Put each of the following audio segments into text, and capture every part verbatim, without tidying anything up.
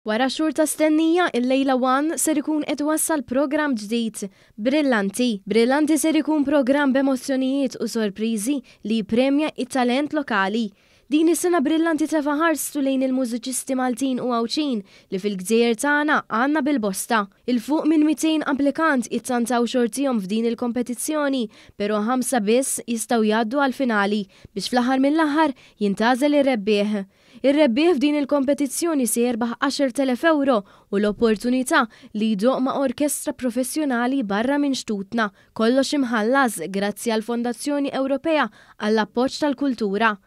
Wara xhur ta' stennija, il-lejla One ser ikun qed wassal programm ġdid, Brillanti. Brillanti ser ikun programm b'emozzjonijiet u sorpriżi li jippremja it-talent lokali. Din is-sena Brillanti tefa' ħarstu lejn il-mużiċisti Maltin u Għawdxin li fil-gżejjer tagħna għandna bil-bosta. Il fuq minn mitejn applikant ittantaw xortihom f'din il-kompetizzjoni, però ħamsa biss jistgħu jgħaddu għal-finali biex fl-aħħar mill-aħħar jintgħażel ir-rebbieħ. Ir-rebbieħ f'din il-kompetizzjoni se jerbaħ għaxart elef euro u l-opportunità li jdoqq ma' orkestra professjonali barra minn xtutna, kollox imħallas grazzi għal Fondazzjoni Ewropea għall-appoġġ tal-kultura.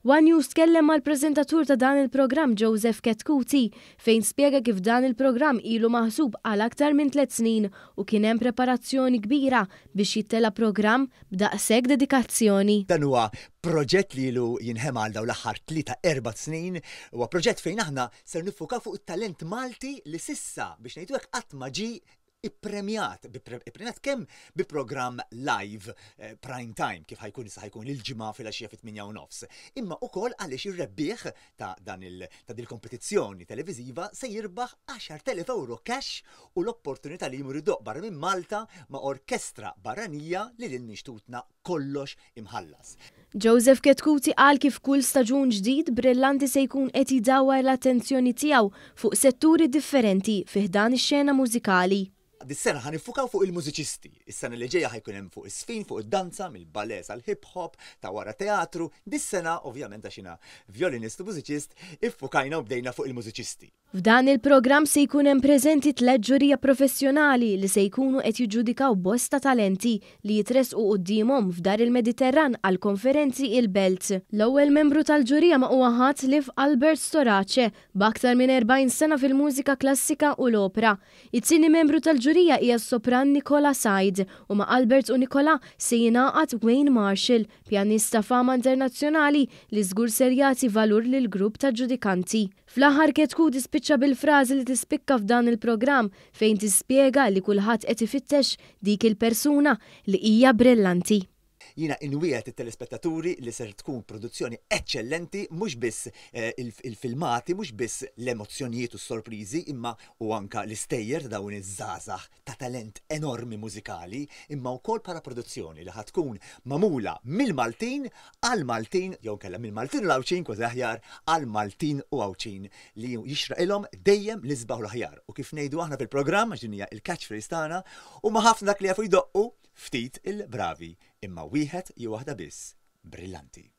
One News tkellem mal-preżentatur ta' dan il-programm, Joseph Chetcuti, fejn spjega kif dan il-programm ilu maħsub għal aktar minn tliet snin u kien hemm preparazzjoni kbira biex jittella programm b'daqshekk dedikazzjoni. Dan huwa proġett li ilu jinħema għal dawn l-aħħar tlieta erba' snin, huwa proġett fejn aħna ser niffukaw fuq it-talent Malti li s'issa, biex ngħidu hekk, qatt ma ġie ippremjat, ippremjat kemm bi programm live eh, prime time kif ħa jkun issa, ħa jkun il-Ġimgħa filgħaxija fit-tmienja u nofs. Imma ukoll għaliex ir-rebbieħ ta' dan il ta' dil-kompetizzjoni televiżiva se jirbaħ għaxart elef euro cash u l-opportunità li jmur idoqq barra minn Malta ma' orkestra barranija lil hinn minn xtutna, kollox imħallas. Joseph Chetcuti qal kif kull staġun ġdid Brillanti se jkun qed jdawwar l-attenzjoni tiegħu fuq setturi differenti fi ħdan ix-xena mużikali. Dis-sena ħa niffukaw fuq il-mużiċisti. Is-sena li ġejja ħa jkun hemm fuq is-sfin, fuq id-danza, mill-ballet sal-hip hop, ta' wara teatru. Dis-sena, ovvjament, għax jiena violinist u mużiċist, iffukajna u bdejna fuq il-mużiċisti. F'dan il-programm se jkun hemm preżenti tliet ġurija professjonali li se jkunu qed jiġġudikaw bosta talenti li jitresqu quddiemhom f'Dar il-Mediterran għal konferenzi il-Belt. L-ewwel membru tal-ġurija ma huwa ħadd ħlief Albert Storace, b'aktar minn erbgħin sena fil-mużika klassika u l-opera. It-tieni membru tal-ġurija hija s-sopran Nicola Said u ma' Albert u Nicola se jingħaqad Wayne Marshall, pjanista fama internazzjonali li żgur ser jagħti valur lil grupp ta' ġudikanti. Fl-aħħar, Chetcuti spiċċa bil-frażi li tispikka f'dan il-programm, fejn tispjega li kulħadd qed ifittex dik il-persuna li hija brillanti. Jiena inwiegħed it-telespettaturi li ser tkun produzzjoni eccellenti, mhux biss eh, il-filmati, mhux biss l-emozzjonijiet u s-sorpriżi, imma u anka l-istejjer ta' dawn iż-żgħażagħ ta' talent enormi mużikali, imma wkoll bħala produzzjoni li ħa tkun magħmula mill-Maltin għal-Maltin, jew kellha mill-Maltin u l-Għawdxin, kważi aħjar, għal-Maltin u Għawdxin li jixraqilhom dejjem l-isbaħ u l-aħjar. U kif ngħidu aħna fil-programm, għax din hija il-catchphrase tagħna, huma ħafna dak li jafu jdoqqu, ftit il-bravi, imma wieħed jew waħda biss brillanti.